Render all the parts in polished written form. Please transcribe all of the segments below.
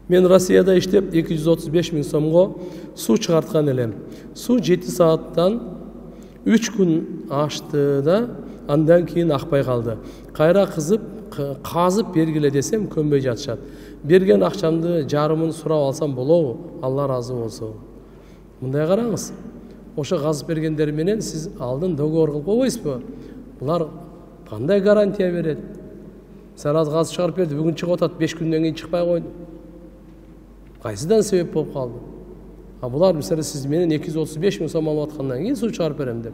Мен Россияда иштеп 235 000 сомго суу чыгарткан элем. Суу 7 сааттан 3 күн ашты да, андан кийин акпай калды. Кайра казып бергиле десем көнбөй жатышат. Берген акчамды жарымын сурап алсам болобу? Алла разы болсун. Мындай караңыз. Ошо казып бергендер менен сиз алдын договор кылып койбойсузбу? Булар кандай гарантия берет? Сен аз казып чыгарып берди, бүгүн чыгып атат, 5 күндөн кийин чыкпай койду. Кайсыдан себеп болуп калды? Булар мисалы сиз менен 235 000 сом алып аткандан кийин суу чыгарып берем деп.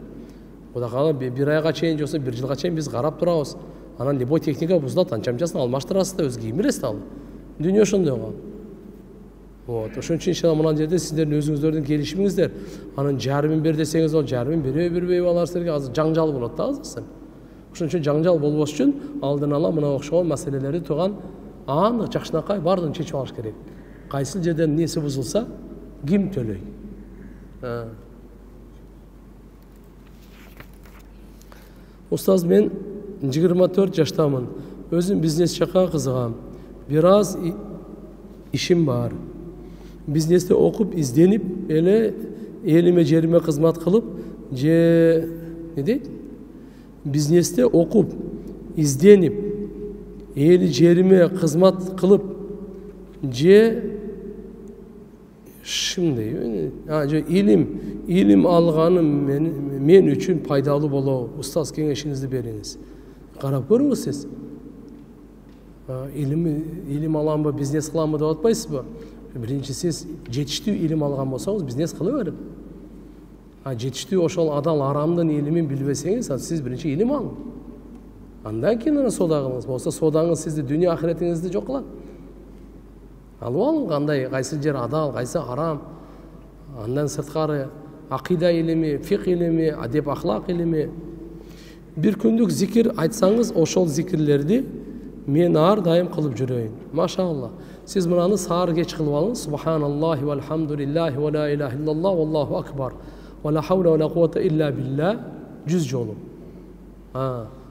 Кудай кааласа бир айга чейин жоксо бир жылга чейин биз карап турабыз. Анан любой техника бузулат, анча-мынчасын алмаштырасыз да, өз кийимиңиз да ал. Дүйнө ошондой го. Ошон үчүн иншалла мына жерде сиздердин өзүңүздөрдүн келишимиңиздер. Анан жарымын бер десеңиз, ал жарымын бербейби алар силерге азыр жаңжал болот да азыр. Ошон үчүн жаңжал болбош үчүн алдын ала мына окшогон маселелерди туган аны жакшынакай баардыгын чечип алыш керек. Кайсыл жерден неси бузулса, ким төлөй? Устаз, мен 24 жаштамын. Өзүм бизнес жакка кызыгам. Бир аз ишим бар. Бизнесте окуп, изденип, элиме жериме кызмат кылып, же не дейт? Бизнесте окуп, изденип, эли жериме кызмат кылып, же илим алганым мен үчүн пайдалуу болобу? Устаз, кеңешиңизди бериңиз. Карап көрүңүз сиз. Илим аламбы, бизнес кыламбы деп атпайсызбы? Биринчи сиз жетиштүү илим алган болсоңуз, бизнес кыла берип. Жетиштүү ошол адал арамдын илимин билбесеңиз, сиз биринчи илим алың. Андан кийин соода кылыңыз. Болсо соодаңыз сизди дүйнө ахиретиңизди жок кылат. Алып алың, кандай, кайсы жер адал, кайсы арам. Андан сырткары акыйда илими, фик илими, адеп ахлак илими. Бир күндүк зикир айтсаңыз, ошол зикирлерди мен ар дайым кылып жүрөйүн. Машалла. Сиз мынаны саар кеч кылып алыңыз. Субханаллахи вальхамдулиллахи ва ла илаха иллаллах валлаху акбар. Ва ла хаула ва ла куввата илля билля 100 жолу.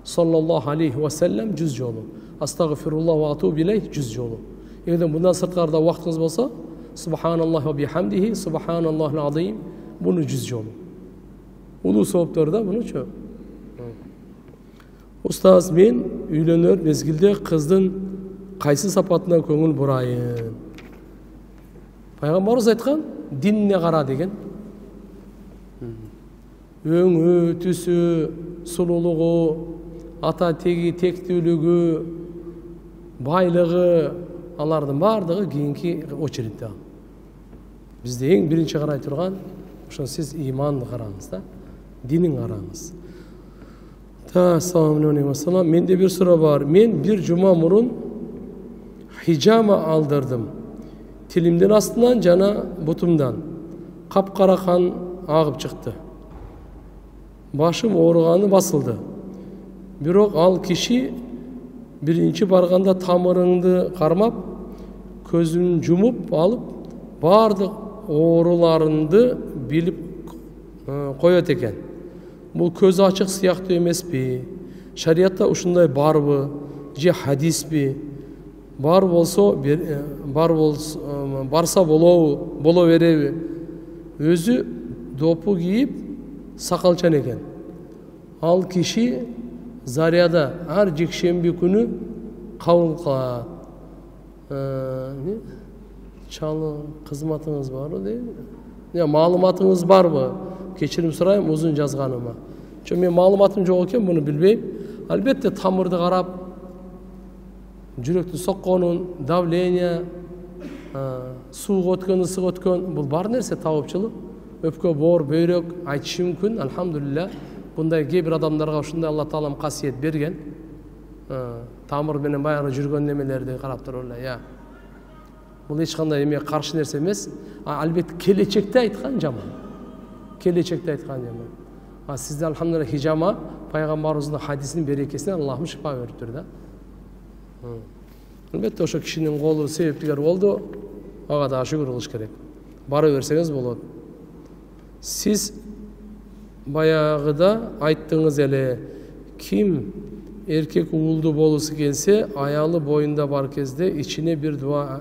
Саллаллаху алейхи ва саллям 100 жолу. Астагфируллах ва атубу илейх 100 жолу. Эгер мындан сырткарда убактыңыз болсо, субханаллахи ва бихамдихи, субханаллахил азим, буну 100 жолу. Улуу сооптор да бунучу. Устаз, мен үйлөнөр мезгилде кыздын кайсы сапатына көңүл бурайын? Пайгамбарыбыз айткан, динине кара деген. Өңү, түсү, сулуулугу, ата теги, тектүүлүгү, байлыгы, алардын баардыгы кийинки очередде. Бизде эң биринчи карай турган, ошо сиз иманды караңыз да, динин караңыз. Ассаламу алейкум. Менде бир суроо бар. Мен бир жума мурун хижама алдырдым. Тилимдин астынан жана бутумдан капкара кан агып чыкты. Башым ооруганы басылды. Бирок ал киши биринчи барганда тамырыңды кармап, көзүн жумуп алып, баардык ооруларыңды билип коет экен. Бул көз ачык сыяктуу эмеспи? Шариятта ушундай барбы? Же хадиспи? Бар болсо, барса боло береби? Өзү допу кийип, сакалчан экен. Ал киши заряда ар жекшемби күнү кабыл кылат. Чалы кызматыңыз барбы дейби? Маалыматыңыз барбы? Кечирим сурайм узун жазганыма. Мен маалыматым жок экен, буну билбейм. Албетте тамырды карап, жүрөктүн сокконун, давление, сууга өткөн, ысык өткөн, бул бар нерсе табыпчылык. Өпкө, боор, бөйрөк айтышы мүмкүн, альхамдулилля. Bunday кээ-бир адамдарга ушундай Алла Таалам касиет берген. Тамыр менен баягы жүргөн немелерди карап туруп эле, бул эч кандай эме каршы нерсе эмес. Албетте келечекте айткан жаман. Сизде альхамдулилля хижама пайгамбарыбыздын хадисинин берекесинен Аллахым шифа бериптир да. Албетте ошо кишинин колу себептигер болду. Ага да шүгүр кылыш керек. Бара берсеңиз болот. Сиз баягыда айттыңыз эле, ким эркек уулду болусу келсе, аялы боюнда бар кезде ичине бир дуа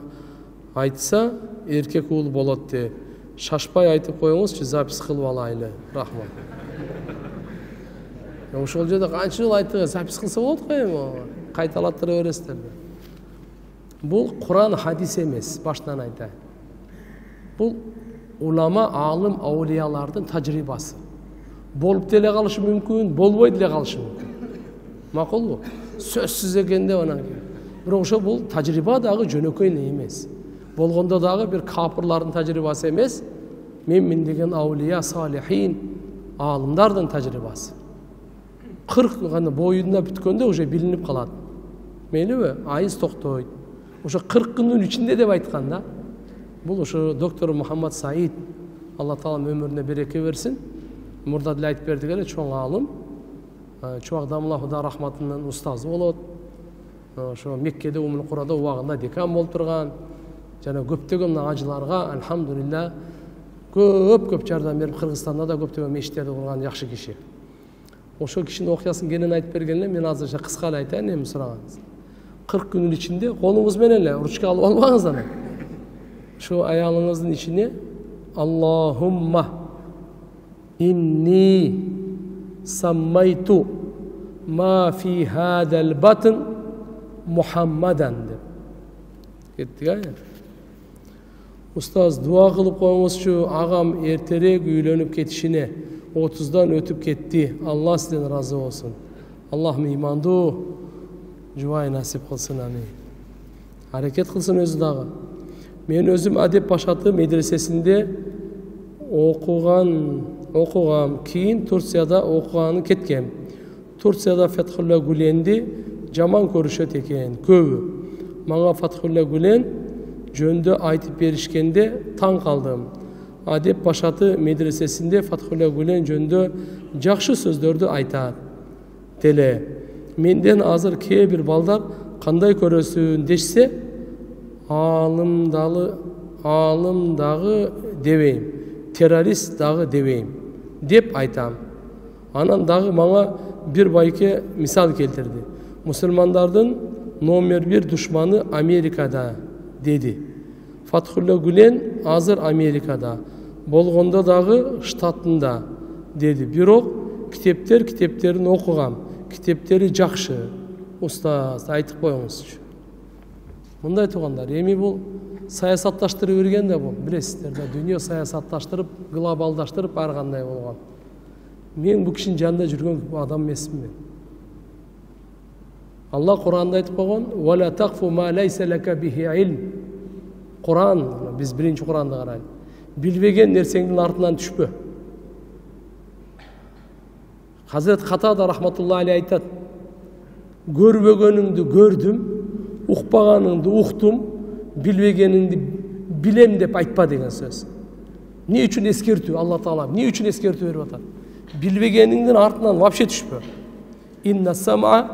айтса эркек уул болот деп шашпай айтып коюңузчу, запись кылып алайлы. Рахмат. Ошол жерде канча жыл айттык, запись кылса болот го эми, кайталаттыра бересиздер. Бул Куран хадис эмес, баштан айтайын. Бул улама, алым, аулиялардын тажрыйбасы. Болуп деле калышы мүмкүн, болбой деле калышы мүмкүн. Макулбу? Сөзсүз экен деп анан кийин. Бирок ошо бул тажрыйба дагы жөнөкөй эмес. Болгондо дагы бир капырлардын тажрыйбасы эмес, мен деген аулия, салихин, алымдардын тажрыйбасы. 40 гана боюнда бүткөндө уже билинип калат. Мейлиби? Айыз токтойт. Ошо 40 күндүн ичинде деп айткан да. Бул ошо доктор Мухаммад Саид, Алла Таала өмүрүнө береке берсин. Мурда деле айтып бердик эле, чоң алым. Чубак-Дамла Худа рахматынын устазы болот. Ошо Меккеде, Умул Курада убагында декан болуп турган. Жана көптөгөн ажыларга алхамдулилла көп жардам берип, Кыргызстанда да көптөгөн мешиттерди курган жакшы киши. Ошол кишинин окуясын кенен айтып берген эле, мен азырча кыска эле айтайын, эми сурагансыз. 40 күнүн ичинде колуңуз менен эле ручка алып албаңыз аны. Şu ayağınızın içine Allahumma inni sammaytu ma fi hadal batn Muhammadan deb kettik ya. Ustaz dua kılıp koymuş ağam erterek üylönüp ketişine 30'dan ötüp ketti. Allah sizden razı olsun. Allah imandu juay nasip kılsın amin. Hareket kılsın özü dağı. Men özüm Adep Başatı medresesinde okuğam. Keyin Turkiyada okuğanı ketkem. Turkiyada Fethullah Gülen'di jaman körüşöt eken köbü. Manga Fethullah Gülen jöndö aytıp berişkende taң kaldım. Adep Başatı medresesinde Fethullah Gülen jöndö jakşı sözdördü aytat. Tele. Menden azır kee bir balдар kандай көрөсүн дешсе, алым дагы дебейм, террорист дагы дебейм деп айтам. Анан дагы мага бир байке мисал келтирди. Мусулмандардын номер 1 душманы Америкада деди. Фатхулла Гүлен азыр Америкада, болгондо дагы штатында деди. Бирок китептерин окугам. Китептери жакшы. Устаз айтып коюңузчу. Мындай туугандар, эми бул саясатташтырып берген да бул, билесиздер да, дүйнө саясатташтырып, глобалдаштырып ар кандай болгон. Мен бул кишинин жанында жүргөн адам эмесмин мен. Алла Куранда айтып койгон: "Ва ла тaqfu ma laysa laka bihi ilm." Куран, биз биринчи Куранды карайлы. Билбеген нерсеңдин артынан түшпө. Хазрет Катада рахматуллахи алейхи айтат: "Көрбөгөнүңдү көрдүм, укпаганыңды уктум, билбегениңди билем" деп айтпа деген сөз. Эмне үчүн эскертүү? Алла Таала эмне үчүн эскертүү берип атат? Билбегениңдин артынан вообще түшпө. Инна сам'a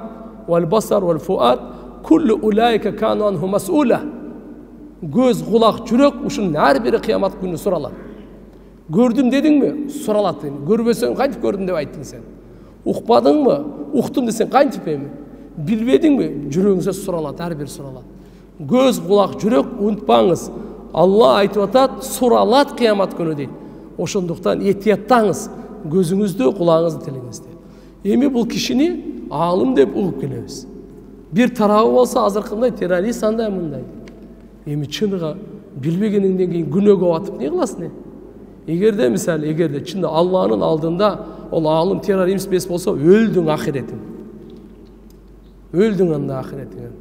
wal basar wal fuad kullu ulaika kanu anhu mas'ula. Göz, kulak, жүрөк ушунун ар бири кыямат күнү суралат. Көрдүм дедиңби? Суралат. Көрбөсөң кантип көрдүм деп айттың сен? Укпадыңбы? Уктум десең кантип эми? Билбедиңби? Жүрөгүңүзгө суралат, ар бир суралат. Göz, kulak, жүрөк унутпаңыз. Алла айтып атат, суралат кыямат күнү дейт. Ошондуктан этияттаңыз, көзүңүздү, кулагыңызды тилиңизди. Эми бул кишини алым деп угуп келебиз. Бир тарабы болсо азыркындай террорист андай мындай. Эми чыныгы билбегениңден кийин күнөөгө батып эмне кыласың? Эгерде мисалы, эгерде чында Алланын алдында ол алым террорист эмес болсо, өлдүң ахиретиң. Өлдүң анда ахиретиң.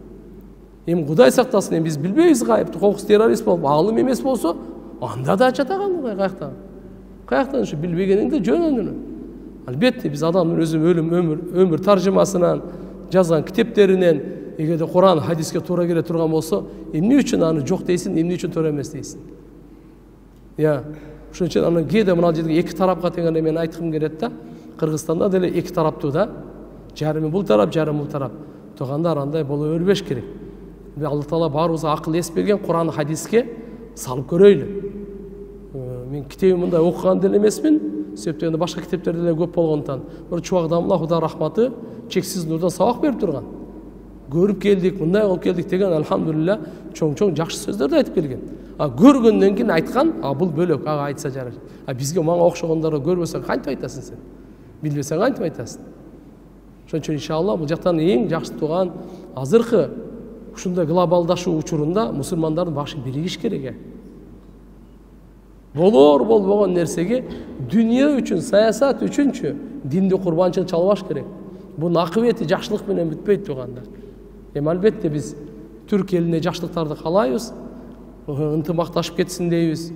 Эми Кудай сактасын, эми биз билбейбиз гайыпты, кокус террорист болуп, алым эмес болсо, анда да жатаган Кудай каяктан. Каяктан ушу билбегениңди жөнүнү. Албетте биз адамдын өзү өмүр таржымасынан жазган китептеринен эгерде Куран, хадиске туура келе турган болсо, эмне үчүн аны жок дейсиң, эмне үчүн туура эмес дейсиң? Я, ошон үчүн аны кээде мына жерге эки тарапка тегенде мен айткым келет да. Кыргызстанда деле эки тараптуу да. Жарымы бул тарап, жарымы бул тарап. Тугандар андай боло бербеш керек. Алла Таала баарыбызга акыл эс берген, Куран, хадиске салып көрөйлү. Мен китеби мындай окуган деле эмесмин, себептен башка китептерде деле көп болгондуктан. Бир чубак Дамла Худа рахматы чексиз нурдан сабак берип турган. көрүп келдик, мындай болуп келдик деген алхамдулилля чоң жакшы сөздөрдү айтып келген. Көргөндөн кийин айткан, бул бөлөк, ага айтса жарашат. Бизге мага окшогондорго көрбөсөң кантип айтасың сен? Билбесең кантип айтасың? Ошон үчүн иншалла бул жактан эң жакшы турган азыркы ушундай глобалдашуу учурунда мусулмандардын башы биригиш керек. Болбогон нерсеге дүйнө үчүн, саясат үчүнчү динди курбанчылык чалбаш керек. Бунун акыбети жакшылык менен бүтпөйт турганда. Албетте биз түрк элине жакшылыктарды каалайбыз, ынтымакташып кетсин дейбиз,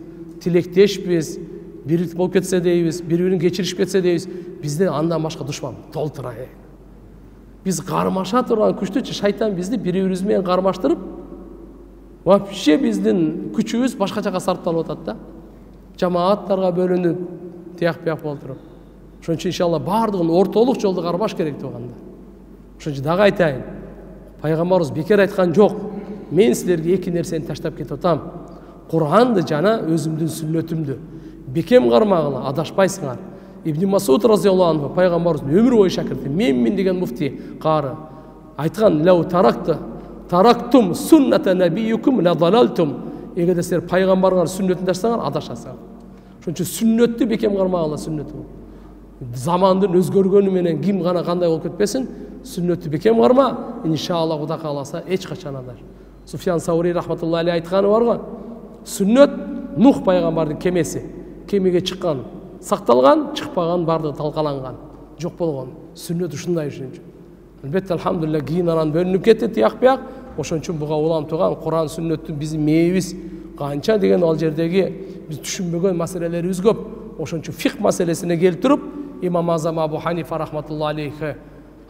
тилектешпиз, бирлик болуп кетсе дейбиз, бири-бирин кечиришип кетсе дейбиз. Бизде андан башка душман толтура. Биз кармаша турган күчтүчү шайтан бизди бири-бирибиз менен кармаштырып, вообще биздин күчүбүз башка жака сарпталып атат да. Жамааттарга бөлүнүп, тияк-бияк болуп туруп. Ошон үчүн иншалла бардыгын ортолук жолду кармаш керек турганда. Ошон үчүн дагы айтайын. Пайгамбарыбыз бекер айткан жок. Мен силерге эки нерсени таштап кетип атам. Куранды жана өзүмдүн сүннөтүмдү. Бекем кармагыла, адашпайсыңар. Ибн Масуд разияллаху анху пайгамбарыбыздын өмүр бою шакирти, менмин деген муфти кары айткан: "Лау тарактум сунната набийюкум ла далалтум." Эгерде силер пайгамбарыңар сүннөтүн таштасаңар, адашасыңар. Ошон үчүн сүннөттү бекем кармагыла, сүннөтү. Замандын өзгөргөнү менен ким гана кандай болуп кетпесин, сүннөттү бекем карма, иншалла Кудай кааласа эч качан адаш. Суфьян Саури рахматуллахи алейхи айтканы бар го. Сүннөт Нух пайгамбардын кемеси. Кемеге чыккан, сакталган, чыкпаган бардыгы талкаланган, жок болгон. Сүннөт ушундай үчүн. Албетте алхамдулилlah кийин анан бөлүнүп кетти тияк-бияк. Ошон үчүн буга улам турган Куран сүннөттүн биздин мээбиз канча деген ал жердеги биз түшүнбөгөн маселелерибиз көп. Ошон үчүн фикх маселесине келип туруп, Имам Азам Абу Ханифа рахматуллахи алейхи,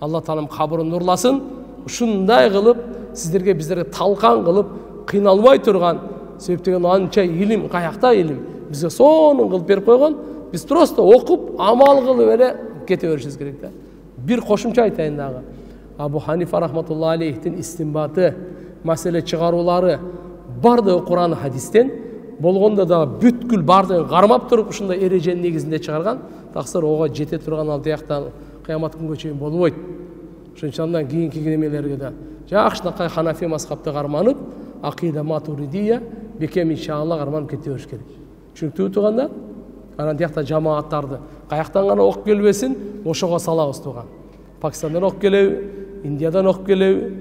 Алла таалам кабырын нурласын, ушундай кылып сиздерге биздерге талкан кылып кыйналбай турган, себептен анча илим, каякта илим бизге сонун кылып берип койгон. Биз просто окуп, амал кылып эле кете беришибиз керек да. Бир кошумча айтайын дагы. Абу Ханифа рахматуллахи алейхтин истинбаты, маселе чыгаруулары бардыгы Куран хадистен болгондо да бүткүл бардыгын кармап туруп ушундай эреженин негизинде чыгарган. Таксыр ого жете турган ал тияктан кыямат күнгө чейин болбойт. Ошон үчүн андан кийинки немелерге да жакшынакай Ханафи мазхабты карманып, акида матуридия бекем иншалла карманып кете бериш керек. Түшүнүктүүбү туугандар? Анан тиякта жамааттарды каяктан гана окуп келбесин, ошого салабыз тууган. Пакистандан окуп келеби, Индиядан окуп келеби,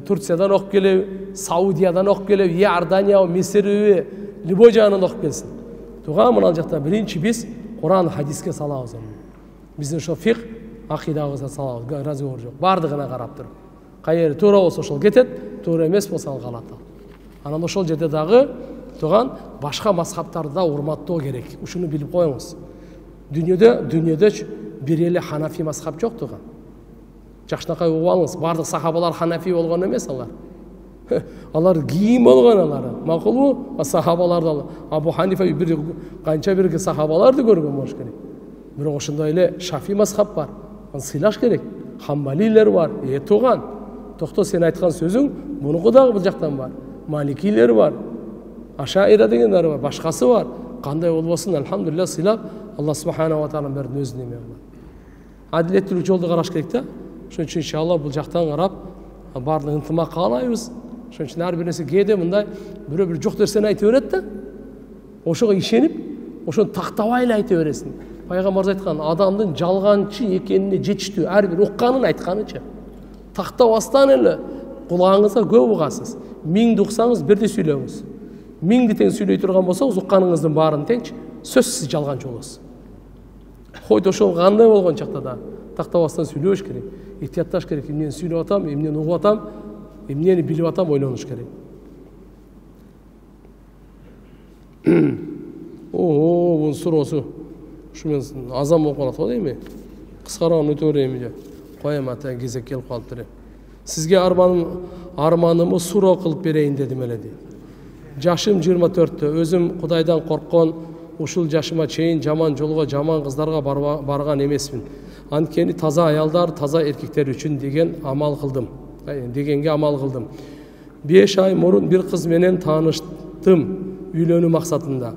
Турциядан окуп келеби, Саудиядан окуп келеби, Иордания, Мисирби, любой жагынан окуп келсин. Тууган мына жакта биринчи биз Куран хадиске салабыз. Биздин ошо фикх акидабызга салабыз, разговор жок. Бардыгына карап туруп. Кайер туура болсо ошол кетет, туура эмес болсо ал калат. Анан ошол жерде дагы тууган башка мазхабтарды да урматтоо керек. Ушуну билип коюңуз. Дүйнөдө бир эле Ханафи мазхаб жок тууган. Жакшынакай угуп алыңыз, бардык сахабалар Ханафи болгон эмес алар. Алар кийин болгон алар. Макулбу? Сахабаларды Абу Ханифа бир канча бирге сахабаларды көргөн болуш керек. Бирок ошондой эле Шафи мазхаб бар. Аны сыйлаш керек. Хамбалилер бар. Тууган. Токто сен айткан сөзүң мунуку дагы бул жактан бар. Маликилер бар. Ашаира дегендер бар. Башкасы бар. Кандай болбосун, алхамдулилlah сыйлап, Алла субханаху ва таала берди өзүнүн эме кылат. Адилеттүүлүк жолду караш керек да. Ошон үчүн иншалла бул жактан карап баардык ынтымак каалайбыз. Ошон үчүн ар бир нерсе кээде мындай бирөө жок нерсени айтып берет да. Ошого ишенип, ошону тактабай эле айта бересиң. Пайгамбарыбыз айткан, адамдын жалганчы экенине жетиштүү ар бир укканын айтканычы. Тактабастан эле кулагыңызга көп угасыз. 1000 уксаңыз бирди сүйлөңүз. 1000 тең сүйлөй турган болсоңуз укканыңыздын баарын теңчи, сөзсүз жалганчы болосуз. Койду ошол кандай болгон чакта да тактабастан сүйлөш керек. Ихтиятташ керек. Эмнени сүйлөп атам, эмнени угуп атам, эмнени билип атам ойлонуш керек. Бунун суроосу ушу мен азан болуп калат го дейми? Кыскарган өтө берейинби же? Коем ата кезек келип калыптыр. Сизге арманымы суроо кылып берейин дедим эле дейт. Жашым 24-тө, өзүм Кудайдан корккон, ушул жашыма чейин жаман жолго, жаман кыздарга барган эмесмин. Анткени таза аялдар, таза эркектер үчүн дегенге амал кылдым. 5 ай мурун бир кыз менен тааныштым, үйлөнүү максатында.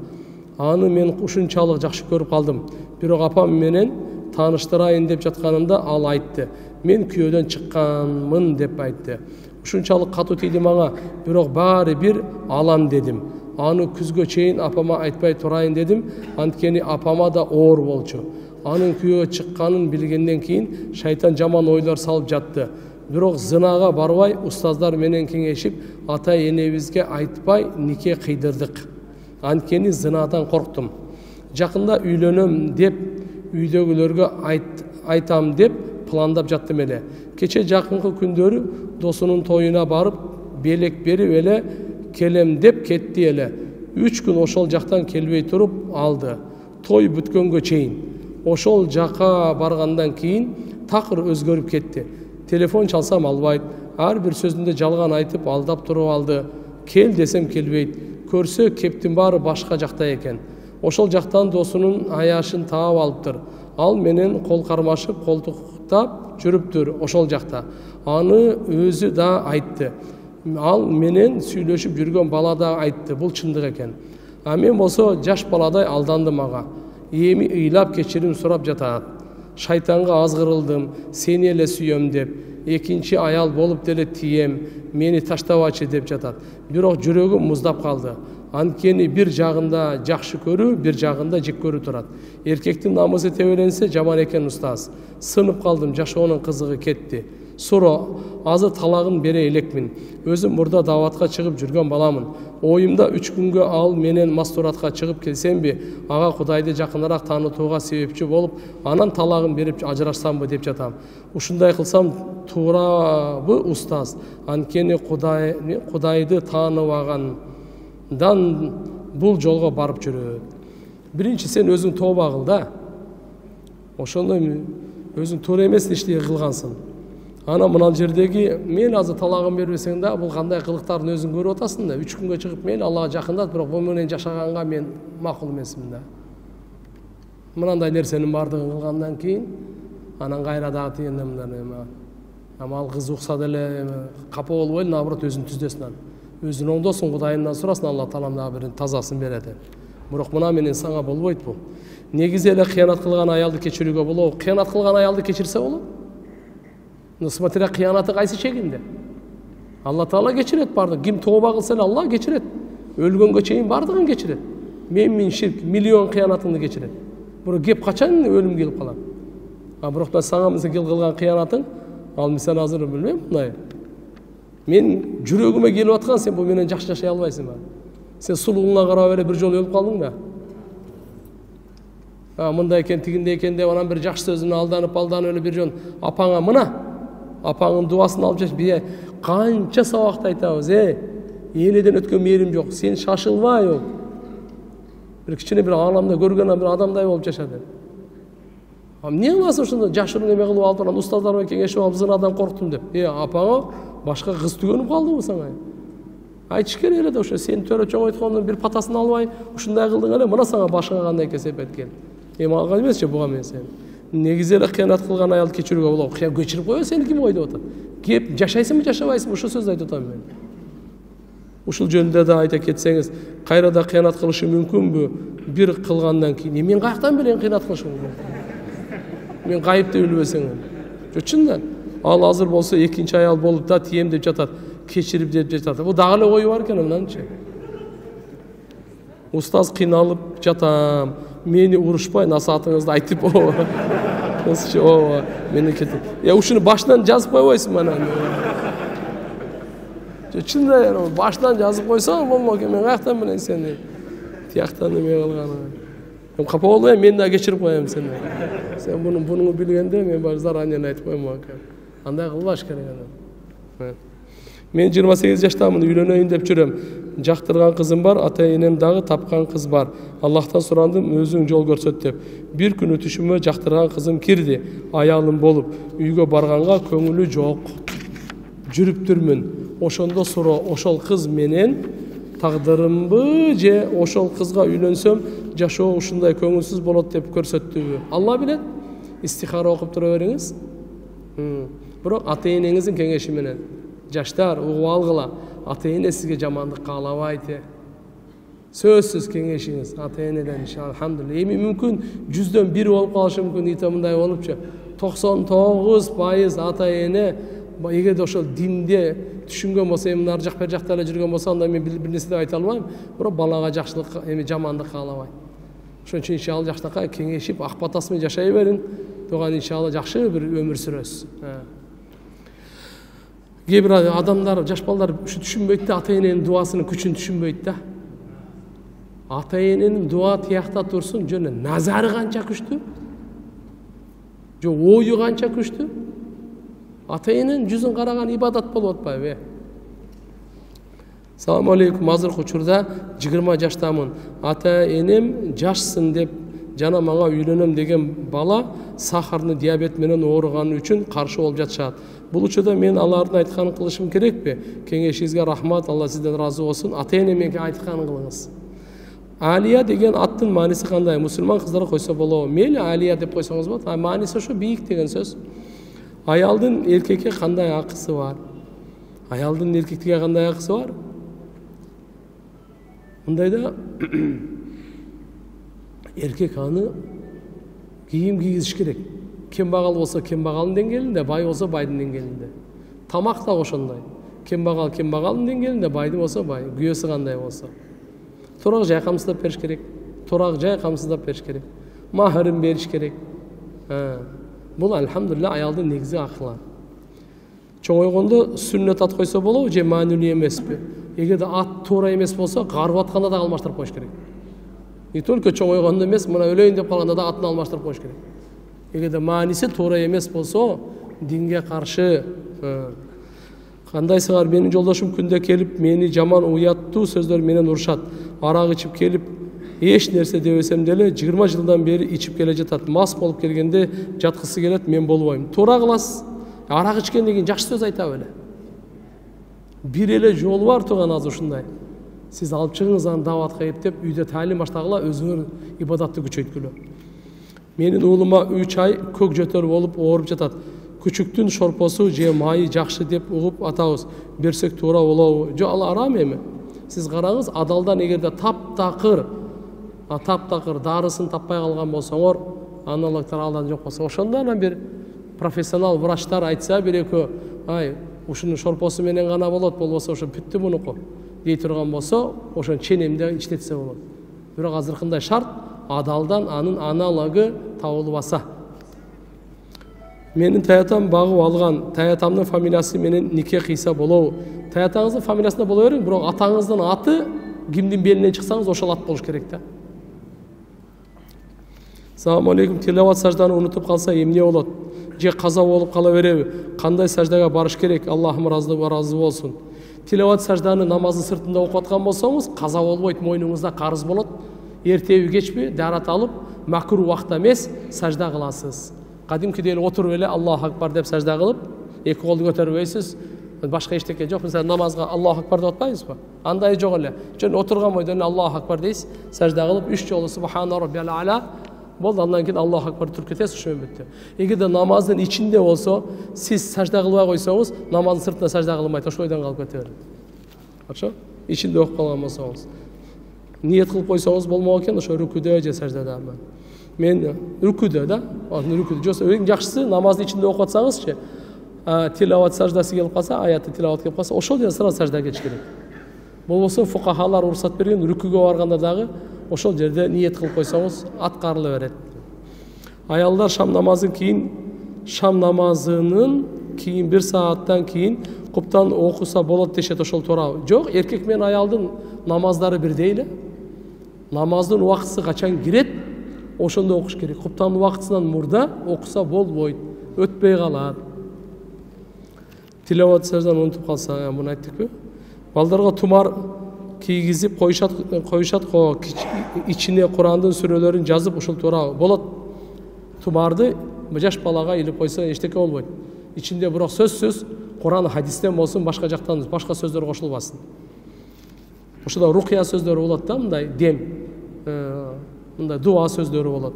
Аны мен ушунчалык жакшы көрүп калдым. Бирок апам менен тааныштырайын деп жатканымда ал айтты. Мен күйөөдөн чыкканмын деп айтты. Ушунчалык катуу тийди мага, бирок баары бир алам дедим. Аны күзгө чейин апама айтпай турайын дедим, анткени апама да оор болчу. Анын күйөөгө чыкканын билгенден кийин шайтан жаман ойлор салып жатты. Бирок зынага барбай, устаздар менен кеңешип, ата энебизге айтпай нике кыйдырдык. Анткени зынадан корктум. Жакында үйлөнөм деп, үйдөгүлөргө айтам деп пландап жаттым эле. Кече жакынкы күндөрү досунун тоюна барып, белек берип эле келем деп кетти эле. 3 күн ошол жактан келбей туруп алды. Той бүткөнгө чейин. Ошол жака баргандан кийин такыр өзгөрүп кетти. Телефон чалсам албайт, ар бир сөзүндө жалган айтып алдап туруп алды. Кел десем келбейт. Көрсө кептин баары башка жакта экен. Ошол жактан досунун аяшын таап алыптыр. Ал менен кол кармашып, колтуктап жүрүптүр ошол жакта. Аны өзү да айтты. Ал менен сүйлөшүп жүргөн бала да айтты. Бул чындык экен. А мен болсо жаш баладай алдандым ага. Эми ыйлап кечирим сурап жатат. Шайтанга азгырылдым, сени эле сүйөм деп. Экинчи аял болуп деле тием, мени таштабачы деп жатат. Бирок жүрөгүм муздап калды. Анткени бир жагында жакшы көрүү, бир жагында жек көрүү турат. Эркектин намысы тебеленсе жаман экен устаз. Сынып калдым, жашоонун кызыгы кетти. Суро, азыр талагын бере элекмин. Өзүм мурда даватка чыгып жүргөн баламын. Оюмда 3 күнгө ал менен мастуратка чыгып келсемби, ага Кудайды жакыныраак таанытууга себепчи болуп, анан талагын берип ажырашсамбы деп жатам. Ушундай кылсам туурабы устаз? Анткени Кудайды тааныбагандан бул жолго барып жүрөт. Биринчи сен өзүң тооба кыл да. Ошондой өзүң туура эмес ишти кылгансың. Ана мына жердеги мен азыр талагын бербесең да, бул кандай кылыктарын өзүң көрүп атасың да. 3 күнгө чыгып мен Аллага жакындат, бирок бул менен жашаганга мен макул эмесмин да. Мынандай нерсенин бардыгын кылгандан кийин анан кайра дагы тигенден мындан ал кыз укса деле капа болбой, наоборот өзүн түздөсүн. Өзүн оңдосун, Кудайымдан сурасын, Алла таалам дагы бир тазасын берет. Бирок мына менен сага болбойт бул. Негизи эле кыянат кылган аялды кечирүүгө болобу? Кыянат кылган аялды кечирсе болот. Смотря кыянаты кайсы чегинде. Алла Таала кечирет бардыгын. Ким тооба кылса эле Алла кечирет. Өлгөнгө чейин бардыгын кечирет. Мен ширк, миллион кыянатыңды кечирет. Бирок кеп качан өлүм келип калат. Бирок да сага мисал кылган кыянатың, ал мисал азыр билбейм, мындай. Мен жүрөгүмө келип аткан, сен бул менен жакшы жашай албайсың ба? Сен сулууңа карап эле бир жолу өлүп калдың да. Мындай экен, тигиндей экен деп анан бир жакшы сөзүнө алданып эле бир жөн апаңа мына апаңын дуасын алып жаш, бие канча сабакта айтабыз, энеден өткөн мээрим жок, сен шашылбай ол. Бир кичине бир ааламда көргөн бир адамдай болуп жаша деп. Эмне кыласың ошондо жашырын эме кылып алып анан устаздар менен кеңешип алып зынадан корктум деп. Апаңа башка кыз түгөнүп калдыбы сага? Айтыш керек эле да, ошо сен төрө чоң айткандын бир патасын албай, ушундай кылдың эле, мына сага башка кандай кесепет кел. Эми алган эмесчи буга мен сен. Негизи эле кыянат кылган аялды кечирүүгө болот. Кечирип кой, сени ким койду атат? Кеп жашайсыңбы, жашабайсыңбы? Ошо сөздү айтып атам мен. Ушул жөнүндө да айта кетсеңиз, кайра да кыянат кылышы мүмкүнбү? Бир кылгандан кийин мен каяктан билем кыянат кылышымды? Мен кайыпты билбесең. Чындан. Ал азыр болсо экинчи аял болуп да тием деп жатат, кечирип деп жатат. Бул дагы эле ою бар экен мынанчы. Устаз кыйналып жатам, мени урушпай насаатыңызды айтып, мени кетип. Ушуну башынан жазып койбойсуңбу анан? Чындан башынан жазып койсоң болмок, мен каяктан билем сени тияктан эме кылганын. Мен капа болбойм, мен да кечирип коем сени. Сен буну билгенде мен бар заранее айтып коем экен. Андай кылбаш керек анан. Мен 28 жаштамын, үйлөнөйүн деп жүрөм. Жактырган кызым бар, ата-энем дагы тапкан кыз бар. Аллахтан сурандым, өзүң жол көрсөт деп. Бир күнү түшүмө жактырган кызым кирди, аялым болуп. Үйгө барганга көңүлү жок. Жүрүптүрмүн. Ошондо суроо, ошол кыз менен тагдырымбы же ошол кызга үйлөнсөм жашоо ушундай көңүлсүз болот деп көрсөттүбү? Алла билет. Истихара окуп тура бериңиз. Бирок ата-энеңиздин кеңеши менен. Жаштар, угуп алгыла. Ата-эне сизге жамандык каалабайт. сөзсүз кеңешиңиз ата энеден иншалла алхамдулилля. Эми мүмкүн 100дөн 1 болуп калышы мүмкүн, ите мындай болупчу. 99% ата эне эгерде ошол динде түшүнгөн болсо, эми ар жак бер жакта эле жүргөн болсо, анда мен бир нерсе деп айта албайм, бирок балага жакшылык, эми жамандык каалабайт. Ошон үчүн иншалла жакшынакай кеңешип, ак батасы менен жашай берин. Туган иншалла жакшы бир өмүр сүрөсүз. Кээ бир адамдар, жаш балдар ушу түшүнбөйт да, ата эненин дуасынын күчүн түшүнбөйт да. Ата эненин дуа тиякта турсун, жөн назары канча күчтүү? Жо ою канча күчтүү? Ата эненин жүзүн караган ибадат болуп атпайбы? Салам алейкум. Азыркы учурда 20 жаштамын. Ата энем жашсың деп жана мага үйлөнөм деген бала сахарный диабет менен ооруганы үчүн каршы болуп жатышат. Бул учурда мен алардын айтканын кылышым керекпи? Кеңешиңизге рахмат, Алла сизден разы болсун. Ата эне менен айтканын кылыңыз. Алия деген аттын мааниси кандай? Мусулман кыздар койсо болобу? Мейли Алия деп койсоңуз болот. Мааниси ошо бийик деген сөз. Аялдын эркекке кандай акысы бар? Аялдын эркекке кандай акысы бар? Мындайда эркек аны кийим кийгизиш керек. Кембагал болсо кембагалдын деңгээлинде, бай болсо байдын деңгээлинде. Тамак да ошондой. Кембагал кембагалдын деңгээлинде, байды болсо бай, күйөөсү кандай болсо. Турак жай камсыздап бериш керек. Турак жай камсыздап бериш керек. Махырын бериш керек. Бул алхамдулилля аялдын негизи акылы. Чоңойгондо сүннөт ат койсо болобу же маанилүү эмеспи? Эгерде ат туура эмес болсо, карып атканда да алмаштырып коюш керек. Не только чоңойгондо эмес, мына өлөйүн деп калганда да атын алмаштырып коюш керек. Эгерде мааниси туура эмес болсо, динге каршы. Кандайсыңар? Менин жолдошум күндө келип, мени жаман уяттуу сөздөр менен урушат. Арак ичип келип, эч нерсе дебесем деле 20 жылдан бери ичип келе жатат. Мас болуп келгенде жаткысы келет, мен болбойм. Туура кыласыз. Арак ичкенден кийин жакшы сөз айта беле. Бир эле жолу бар туган азыр ушундай. Сиз алып чыгыңыз аны даватка эптеп, үйдө таалим баштагыла, өзүңөр ибадатты күчөйткүлө. Менин уулума 3 ай көк жөтөр болуп ооруп жатат. Күчүктүн шорпосу же майы жакшы деп угуп атабыз. Берсек туура болобу? Жо, ал арам эми. Сиз караңыз, адалдан эгерде таптакыр дарысын таппай калган болсоңор, аналогтор алдан жок болсо, ошондо анан бир профессионал врачтар айтса бир-экөө, ай, ушунун шорпосу менен гана болот, болбосо ошо бүттү мунуку дей турган болсо, ошон ченемде иштетсе болот. Бирок азыркындай шарт адалдан анын аналогу табылбаса. Менин таятам багып алган, таятамдын фамилиясы менен нике кыйса болобу? Таятаңыздын фамилиясында боло бериң, бирок атаңыздын аты кимдин белинен чыксаңыз ошол ат болуш керек да. Салам алейкум. Тилават сажданы унутуп калса эмне болот? Же каза болуп кала береби? Кандай саждага барыш керек? Аллахым разы болсун. Тилават сажданы намаздын сыртында окуп аткан болсоңуз, каза болбойт, мойнуңузда карыз болот. Эртеби кечпи дарат алып, макруh убакта эмес, сажда кыласыз. Кадимкидей эле отуруп эле Аллаху акбар деп сажда кылып, эки колду көтөрбөйсүз. Башка эчтеке жок. Мисалы намазга Аллаху акбар деп атпайбызбы? Андай жок эле. Жөн отурган бойдон Аллаху акбар дейсиз, сажда кылып 3 жолу субхана роббиял а'ла болду, андан кийин Аллаху акбар туруп кетесиз, ошо бүттү. Эгерде намаздын ичинде болсо, сиз сажда кылбай койсоңуз, намаздын сыртында сажда кылмайт, ошол ойдон калып кете берет. Ачо? Ичинде окуп калган болсоңуз. Ниет кылып койсоңуз болмок экен, ошо рүкүдө же саждада. Мен рүкүдө да, рүкүдө. Жоксо эң жакшысы намаздын ичинде окуп атсаңызчы, тилават саждасы келип калса, аятты тилават келип калса, ошол жерден сразу саждага кетиш керек. Болбосо фукахалар уруксат берген, рүкүгө барганда дагы ошол жерде ниет кылып койсоңуз аткарыла берет. Аялдар шам намазынын кийин 1 сааттан кийин куптан окуса болот дешет, ошол туурабы? Жок, эркек менен аялдын намаздары бирдей эле. Намаздын убактысы качан кирет, ошондо окуш керек. Куптан убактысынан мурда окуса болбойт, өтпөй калат. Тилават саждан унутуп калса, муну айттыкпы? Балдарга тумар кийгизип коюшат го, ичине Курандын сүрөлөрүн жазып, ошол туурабы? Болот. Тумарды жаш балага илип койсо эчтеке болбойт. Ичинде бирок сөзсүз Куран хадистен болсун, башка жактан башка сөздөр кошулбасын. Ошода рукия сөздөрү болот да, мындай дем, мындай дуа сөздөрү болот.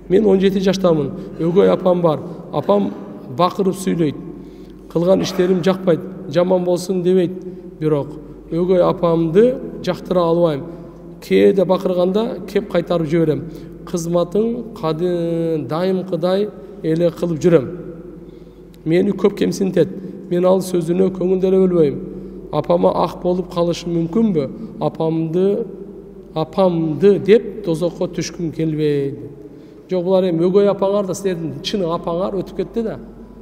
Мен 17 жаштамын. Өгөй апам бар. Апам бакырып сүйлөйт. Кылган иштерим жакпайт. Жаман болсун дебейт. Бирок өгөй апамды жактыра албайм. кээде бакырганда кеп кайтарып жиберем. Кызматың дайымкыдай эле кылып жүрөм. Мени көп кемсинтет. Мен ал сөзүнө көңүл деле бөлбөйм. Апама ак болуп калышы мүмкүнбү? Апамды деп тозокко түшкүм келбейт. Жок, булар эми өгөй апаңар да силердин чын апаңар өтүп кетти да.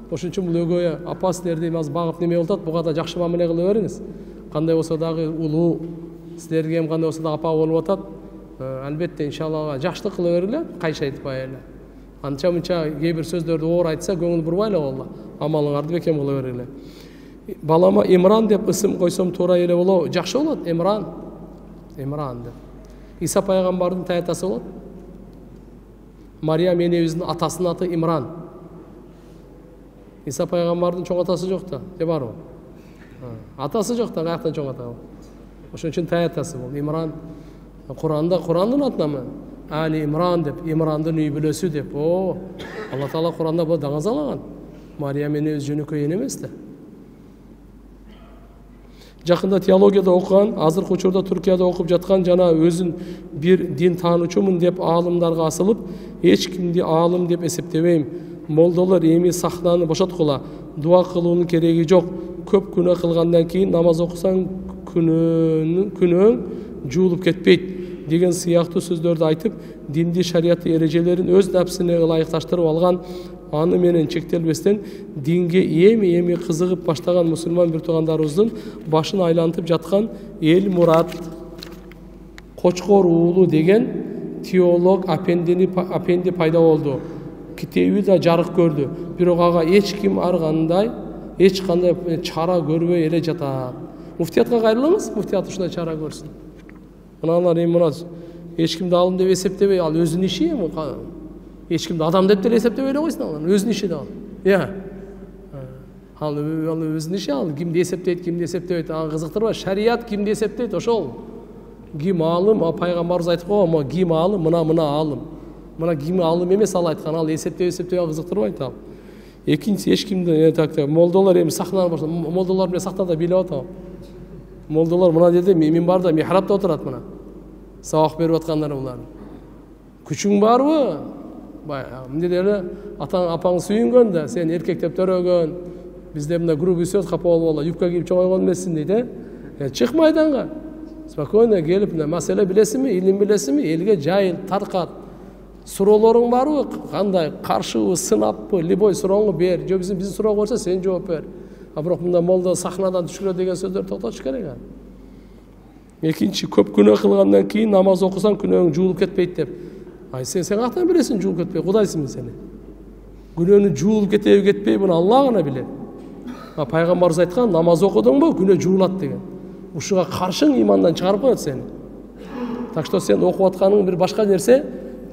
Ошон үчүн бул өгөй апа силерди азыр багып неме болуп атат, буга да жакшы мамиле кыла бериңиз. Кандай болсо дагы улуу, силерге эми кандай болсо дагы апа болуп атат. Албетте иншаллага жакшылык кыла бергиле, кайшы айтпай эле. Анча мынча кээ бир сөздөрдү оор айтса көңүл бурбай эле болду. Амалыңарды бекем кыла бергиле. Балама Имран деп ысым койсом туура эле болобу? Жакшы болот, Имран деп. Иса пайгамбардын таятасы болот. Мария энебиздин атасынын аты Имран. Иса пайгамбардын чоң атасы жок да, же барбы? Атасы жок да, каяктан чоң ата? Ошон үчүн таятасы бул Имран. Курандын атынамы? Али Имран деп, Имрандын үй бүлөсү деп. Алла Таала Куранда бул даңазалаган. Мария энебиз жөнөкөй эмес да. Жакында теологияда окуган, азыркы учурда Түркияда окуп жаткан жана өзүн бир дин таануучумун деп аалымдарга асылып, эч кимди аалым деп эсептебейм. Молдолор эми сахнаны бошоткула, дуа кылуунун кереги жок. Көп күнөө кылгандан кийин намаз окусаң күнөөң жуулуп кетпейт деген сыяктуу сөздөрдү айтып, динди шариятты эрежелерин өз напсине ылайыкташтырып алган, аны менен чектелбестен динге эми кызыгып баштаган мусулман бир туугандарыбыздын башын айлантып жаткан Эл Мурат Кочкор уулу деген теолог апенди пайда болду. Китеби да жарык көрдү. Бирок ага эч кандай чара көрбөй эле жатат. Муфтиятка кайрылыңыз, муфтият ушундай чара көрсүн. Мыналар эми эч кимди алым деп эсептебей, ал өзүнүн иши эми. Эч кимди адам деп деле эсептебей эле койсун, ал өзүнүн иши да. Ал өзүнүн иши, ал кимди эсептейт, ага кызыктырбайт. Шарият кимди эсептейт, ошол. Ким алым, пайгамбарыбыз айтып койгон, ким алым, мына алым. Мына ким алым эмес, ал айткан, ал эсептей кызыктырбайт ал. Экинчиси эч кимди молдолор эми сахнаны бошо, молдолор менен сахнада бийлеп атабы. Молдолор мына жерде минбарда михрабта отурат мына. Сабак берип аткандар булар. Күчүң барбы? Мындай эле апаң сүйүнгөн да, сен эркектеп төрөгөн. Бизде мына грубый сөз капа болуп, юбка кийип чоңойгон эмессиң дейт, Чык майданга. Спокойно келип, маселе билесиңби, илим билесиңби, элге жайыл, таркат. Суроолоруң барбы? Кандай? Каршыбы, сынаппы, любой сурооңду бер. Же биздин суроого болсо сен жооп бер. А бирок мында молда сахнадан түшкүрө деген сөздөр токтотуш керек. Экинчи, көп күнөө кылгандан кийин намаз окусаң күнөөң жуулуп кетпейт деп. Сен каяктан билесиң жуулуп кетпей? Кудайсыңбы сени? Күнөөнү жуулуп кетеби кетпей, буну Алла гана билет. Пайгамбарыбыз айткан, намаз окудуңбу, күнөө жуулат деген. Ушуга каршың имандан чыгарып коет сени. Так что сен окуп атканың бир башка нерсе,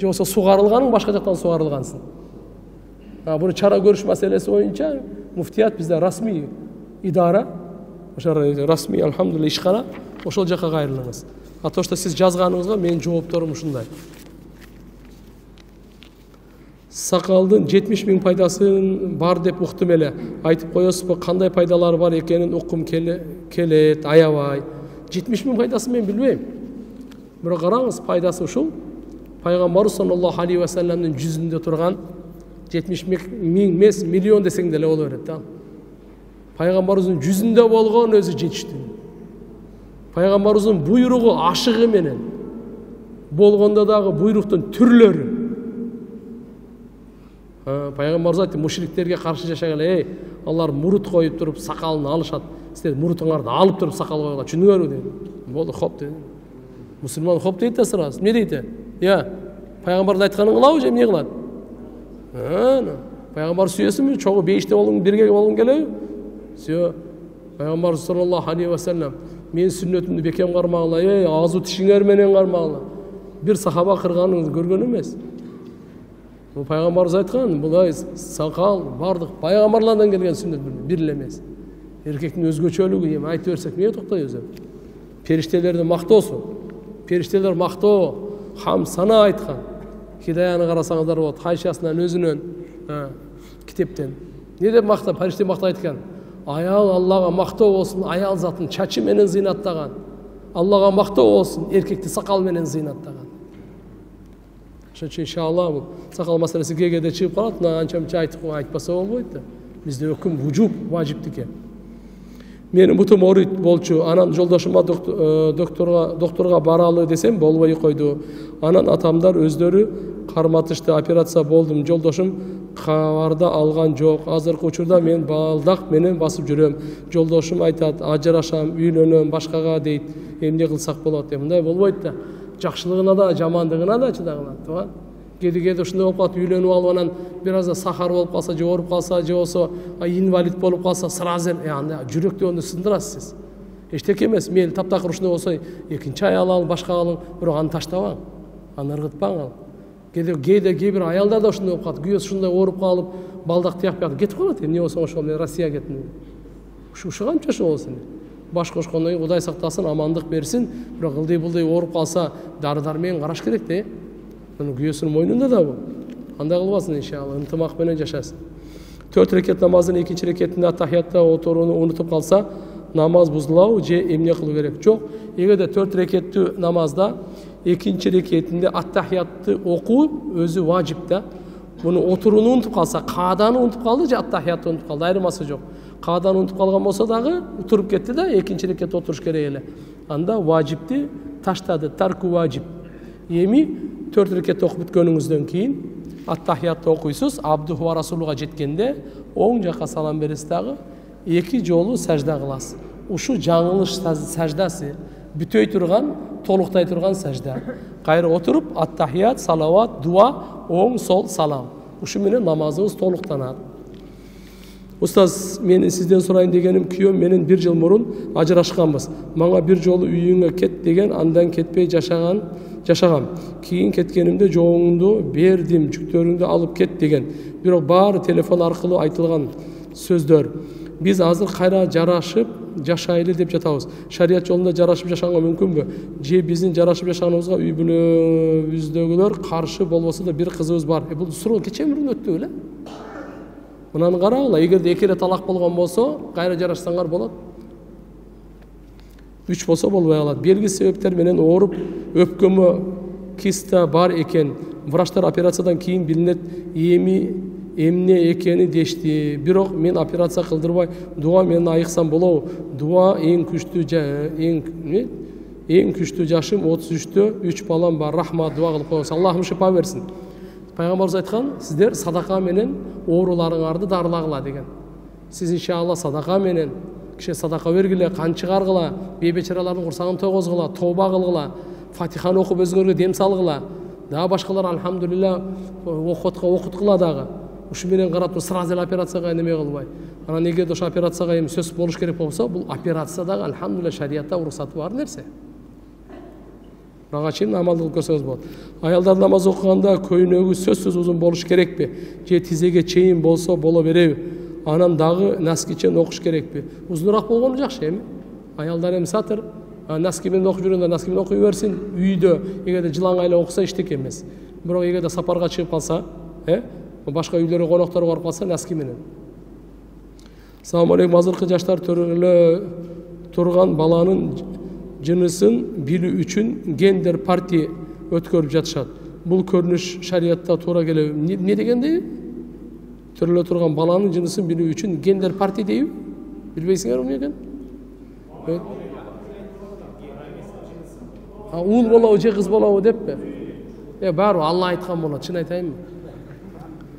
же болсо сугарылганың башка жактан сугарылгансың. Буну чара көрүш маселеси боюнча муфтият бизде расмий идара, ошо расмий алхамдулилlah ишкана, ошол жака кайрылыңыз. То, что сиз жазганыңызга менин жоопторум ушундай. Сакалдын 70 000 пайдасын бар деп уктум эле. Айтып коесузбу, кандай пайдалары бар экенин уккум келет, аябай. 70 000 пайдасын мен билбейм. Бирок караңыз, пайдасы ушул. Пайгамбар саллаллаху алейхи ва салламдын жүзүндө турган 70 000 эмес, миллион десең деле боло берет да. Пайгамбарыбыздын жүзүндө болгон өзү жетиштүү. Пайгамбарыбыздын буйругу ашыгы менен болгондо дагы буйруктун түрлөрү. Пайгамбарыбыз айтты, мушриктерге каршы жашагыла, алар мурут коюп туруп сакалын алышат. Силер мурутуңарды алып туруп сакал койгула, түшүнүңөрбү dedi. Болду, хоп dedi. Мусулман хоп дейт да сразу. Эмне дейт? Пайгамбардын айтканын кылабы же эмне кылат? Пайгамбар сүйөсүңбү? Чогуу бейиште болуң, бирге болгуң келеби? Все. Пайгамбар саллаллаху алейхи ва саллям мен сүннөтүмдү бекем кармагыла, азу тишиңер менен кармагыла. Бир сахаба кырганын көргөн эмес. Бул пайгамбарыбыз айткан, булай сакал бардык пайгамбарлардан келген сүннөт бир эле эмес. Эркектин өзгөчөлүгү эми айтып берсек эмне токтойбуз? Периштелерди мактоосу. Периштелер мактоо, хам сана айткан. Хидаяны карасаңыздар болот, Хайшасынан өзүнөн китептен. Не деп мактап, периште мактап айткан? Аял Аллага мактоо болсун, аял затын чачы менен зыйнаттаган. Аллага мактоо болсун, эркекти сакал менен зыйнаттаган. Ошон үчүн иншалла бул сакал маселеси кээде чыгып калат, мына анча мынча айтпаса болбойт да. Бизде өкүм вужуб, важиптики. Менин бутум ооруйт болчу, анан жолдошума докторга баралы десем болбой койду. Анан атамдар өздөрү карматышты, операция болдум. Жолдошум кабарда алган жок. Азыркы учурда мен балдак менен басып жүрөм. Жолдошум айтат, ажырашам, үйлөнөм, башкага дейт. Эмне кылсак болот деп. Мындай болбойт да. Жакшылыгына да, жамандыгына да чыдагыла, тууган. Кээде ушундай болуп калат, үйлөнүп алып анан бир азда сахар болуп калса, же ооруп калса, же болсо инвалид болуп калса, сразу анда жүрөктү ону сындырасыз. Эчтеке эмес, мейли таптакыр ушундай болсо, экинчи аял алып, башка алып, бирок аны таштабаң. Аны ыргытпаң. Кээде кээ бир аялдар да ушундай болуп калат, күйөөсү ушундай ооруп калып, балдак тиякпай кетип калат. Эмне болсо ошол мен Россияга кеттим. Ушу канча ошол болсун. Баш кошкондон кийин Кудай сактасын, амандык берсин. Бирок ылдый-булдый ооруп калса, дары-дармен караш керек да. Муну күйөөсүнүн мойнунда да бул. Андай кылбасын иншалла, ынтымак менен жашасын. 4 рекет намаздын экинчи рекетинде аттахиятта отурууну унутуп калса, намаз бузулабы же эмне кылуу керек? Жок. Эгерде 4 рекеттүү намазда экинчи рекетинде аттахиятты окуу өзү важип да. Муну отурууну унутуп калса, кааданы унутуп калды же аттахиятты унутуп калды, айырмасы жок. Кааданы унутуп калган болсо дагы туруп кетти да, экинчи рекетте отуруш керек эле. Анда важипти таштады, тарку важип. Эми 4 рекет окуп бүткөнүңүздөн кийин аттахиятты окуйсуз, абдуху ва расулуга жеткенде оң жакка салам бересиз дагы 2 жолу сажда кыласыз. Ушу жаңылыш саждасы, бүтөй турган, толуктай турган сажда. Кайра отуруп аттахият, салават, дуа, оң сол салам. Ушу менен намазыбыз толуктанат. Устаз, мен сизден сурайын дегеним, күйөөм менен 1 жыл мурун ажырашканбыз. Мага 1 жолу үйүңө кет деген, андан кетпей жашагам. Кийин кеткенимде жоңуңду бердим, жүктөрүңдү алып кет деген. Бирок баары телефон аркылуу айтылган сөздөр. Биз азыр кайра жарашып жашайлы деп жатабыз. Шарият жолунда жарашып жашаганга мүмкүнбү? Же биздин жарашып жашаганыбызга үй бүлөбүздөгүлөр каршы болбосо да бир кызыбыз бар. Бул суроо кече мурун өттү беле? Мынаны карагыла, эгерде 2 рет талак болгон болсо, кайра жарашсаңар болот. 3 болсо болбой калат. Белгисиз себептер менен ооруп, өпкөмө киста бар экен. Врачтар операциядан кийин билинет, эмне экени дешти. Бирок мен операция кылдырбай, дуа менен айыксам болобу? Дуа эң күчтүү жашым 33-тө 3 балам бар. Рахмат, дуа кылып коюңуз. Аллахым шифа берсин. Пайгамбарыбыз айткан, сиздер садака менен ооруларыңарды дарылагыла деген. Сиз иншалла садака менен киши садака бергиле, кан чыгаргыла, бейбечаралардын курсагын тойгозгула, тооба кылгыла, Фатиханы окуп өзүңөргө дем салгыла. Дагы башкалар алхамдулилла окуткула дагы. Ушу менен карап сразу операцияга неме кылбай. Анан эгерде ошо операцияга эми сөз болуш керек болсо, бул операция дагы алхамдулилла шариятта уруксаты бар нерсе. Ага чейин амалдык көрсөңүз болот. Аялдар намаз окуганда көйнөгү сөзсүз узун болуш керекпи? Же тизеге чейин болсо боло береби? Анан дагы наскичен окуш керекпи? Узунураак болгону жакшы эми. Аялдар эми сатыр, наски менен окуп жүргөндө наски менен окуй берсин. Үйдө эгерде жылаңайлап окуса эчтеке эмес. Бирок эгерде сапарга чыгып калса, башка үйлөргө конокторго барып калса наски менен. Салам алейкум. Азыркы жаштар төрөлө турган баланын жынысын билүү үчүн гендер партия өткөрүп жатышат. Бул көрүнүш шариятта туура келеби? Не дегенде? Төрөлө турган баланын жынысын билүү үчүн гендер партия дейби? Билбейсиңер эмне экен? Уул болобу же кыз болобу деппи? Баары Алла айткан болот, чын айтайынбы?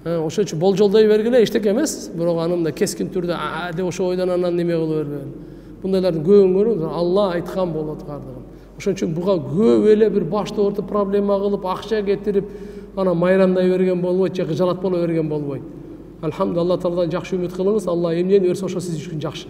Ошон үчүн болжолдой бергиле, эчтеке эмес. Бирок анында кескин түрдө деп ошо ойдон анан неме кылып бербегин. Бундайлардын көбүн Алла айткан болот кардыгым. Ошон үчүн буга көп эле бир башты ортуп проблема кылып, акча кетирип, ана майрамдай берген болбойт, же жалат боло берген болбойт. Алхамдулилла, Алла Тааладан жакшы үмүт кылыңыз. Алла эмнени берсе ошо сиз үчүн жакшы.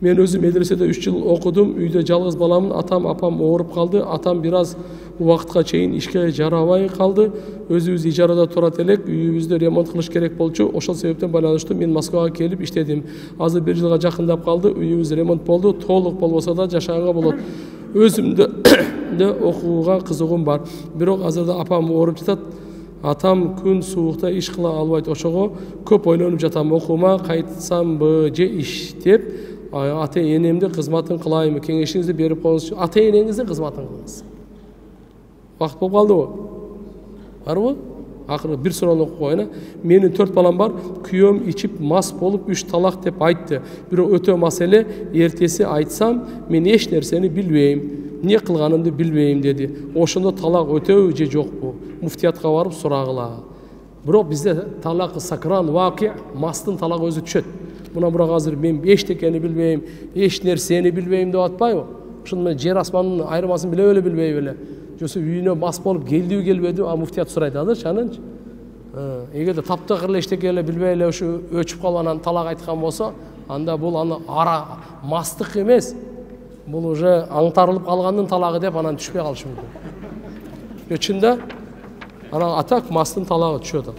Мен өзүм медреседе 3 жыл окудум. Үйдө жалгыз баламын. Атам, апам ооруп калды. Атам бир аз убакытка чейин ишке жарабай калды. Өзүбүз ижарада турат элек. Үйүбүздү ремонт кылыш керек болчу. Ошол себептен байланыштуу мен Москвага келип иштедим. Азыр 1 жылга жакындап калды. Үйүбүз ремонт болду. Толук болбосо да жашаганга болот. Өзүмдө окууга кызыгуум бар. Бирок азырда апам ооруп жатат. Атам күн суукта иш кыла албайт. Ошого көп ойлонуп жатам. Окуума кайтсамбы же иштеп ата энемдин кызматын кылайынбы, кеңешиңизди берип коюңузчу. Ата энеңиздин кызматын кылыңыз. Убакыт болуп калдыбы? Барбы? Акыры бир суроону окуп коеюн. Менин 4 балам бар. Күйөөм ичип мас болуп 3 талак деп айтты. Бирок өтө маселе, эртеси айтсам, мен эч нерсени билбейм, эмне кылганымды билбейм деди. Ошондо талак өтөбү же жокпу? Муфтиятка барып сурагыла. Бирок бизде талак сакран вакый, мастын талагы өзү түшөт. Мына бирок азыр мен эчтекени билбейм, эч нерсени билбейм деп атпайбы? Ошондо мен жер асмандын айырмасын биле билбей беле. Жосу үйүнө мас болуп келдиби келбеди, а муфтият сурайт азырчы анынчы. Эгерде таптакыр эле эчтеке эле билбей эле ушу өчүп калып анан талак айткан болсо, анда бул аны ара мастык эмес. Бул уже аңтарылып калгандын талагы деп анан түшпөй калышы мүмкүн. Чында анан атак мастын талагы түшөт.